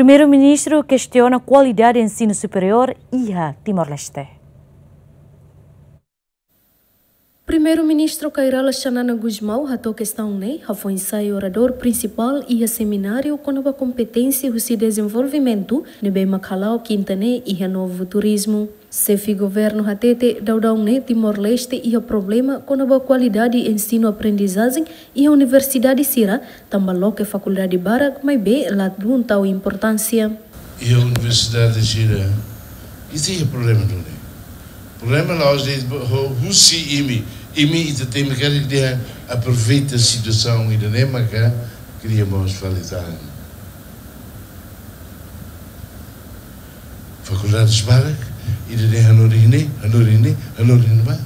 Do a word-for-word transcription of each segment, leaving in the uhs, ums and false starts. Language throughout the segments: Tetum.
Primeiru-Ministru kestiona kualidade ensinu superiór iha Timor-Leste. Primeiru-Ministru Kay Rala Xanana Gusmão hato'o kestaun ne'e hafoin sai oradór prinsipál iha semináriu kona-ba kompeténsia husi dezenvolvimentu ne'ebé mak hala'o kinta ne'e iha Novo Turismo. Xefe governu hatete daudaun ne'e Timor-Leste iha problema kona-ba kualidade ensinu-aprendizajen iha universidade sira, tanba loke fakuldade barak maibé ladún tau importánsia. Iha universidade sira, ita iha problema duni. Problema la'ós de'it ho husi imi, imi ita temi karik dehan aproveita situasaun ida-ne'e maka kria mós fali tan. Fakuldade barak, ida-ne'e hanorin ne'e, hanorin ne'e, hanorin ne'ebá.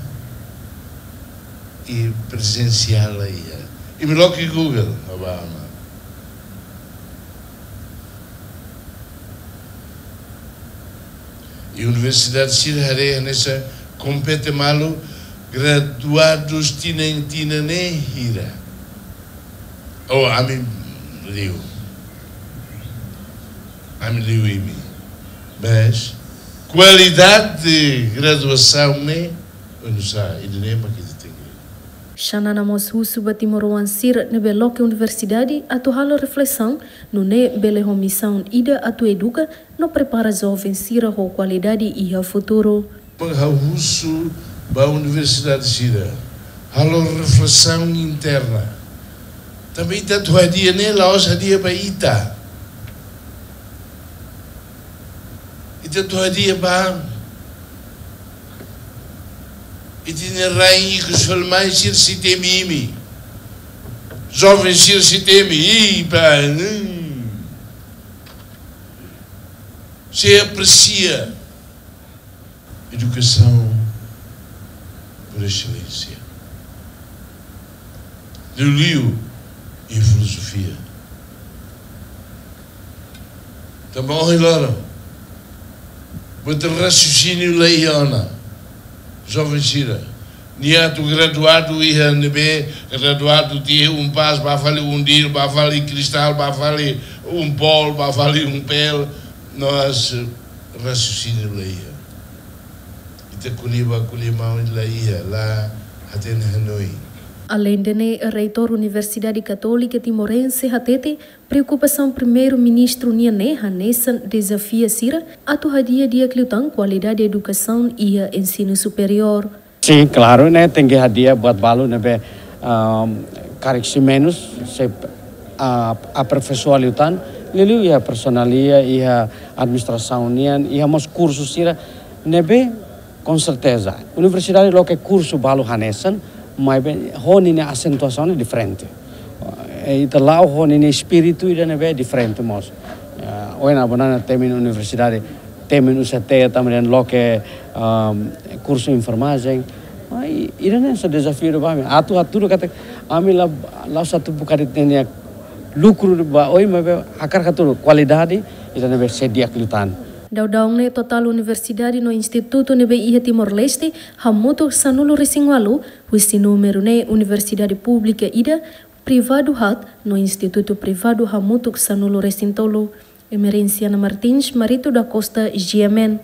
I prezensiál la iha. Imi loke Google, abama. I universidade sira haree hanesan kompete malu graduadus tinan-tinan ne'e hira. Oh, ami liu. Ami liu imi. Mas kualidade graduasaun ne'e, oinsá, ida-ne'e mak ita tenke. Xanana mós husu ba timoroan sira ne'ebé loke universidade atu halo reflesaun, nune'e bele ho misaun ida atu eduka no prepara joven sira ho kualidade iha futuru. Ha'u husu ba universidade sira halo reflesaun interna. Tanba ita atu hadi'a ne'e la'ós hadi'a ba ita. Ita atu hadi'a ba ita-nia rain ikus fali mai sira sei temi imi. Joven sira sei temi, i ba, hmm. Sei apresia edukasaun por exelénsia. Liuliu iha filozofia. Tanba ohin loron, buat raciocínio la iha ona. Joven sira, nia atu graduadu iha ne'ebé, graduadu tiha UNPAZ, bá fali UNDIL, bá fali Cristal, bá fali UNPOL, bá fali UNPEL, mas raciocínio la iha. Ita ko'alia bá ko'alia maun la iha, la hatene hanoin. Aleinde ne'e, Reitór Universidade Katólika Timorense hatete, preokupasaun Primeiru-Ministru nian ne'e hanesan dezafia sira atu hadi'a di'ak liután kualidade edukasaun iha ensinu superiór. Sin, klaru, ne'e tenke hadi'a buat balu ne'ebé, ahm, karik sei menus, sei, ah, aperfeisoa liután, liuliu iha personalia, iha administrasaun nian, iha mós kursu sira ne'ebé, com certeza. Universidade loke kursu balu hanesan, maibé ho ninia asentuasaun ne'e diferente. Eh, ita la'o ho ninia espíritu ida ne'ebé diferente mós. Eh, ohin ne'e banana temi universidade, temi universidade tanba dehan loke, ahm, kursu enfermajen. Mas i-, ida-ne'e hanesan dezafiu ba ami. Atu hatudu katak ami la, la'ós atu buka de'it ninia lukru ba oin, maibé hakarak hatudu kualidade ida ne'ebé sei di'ak liután. Daudaun ne'e totál universidade no institutu ne'ebé iha Timor-Leste hamutuk sanulu-resin-ualu, husi númeru ne'e universidade públika ida, privadu haat, no institutu privadu hamutuk sanulu-resin-tolu. Emerenciana Martins, Marito da Costa, G M N.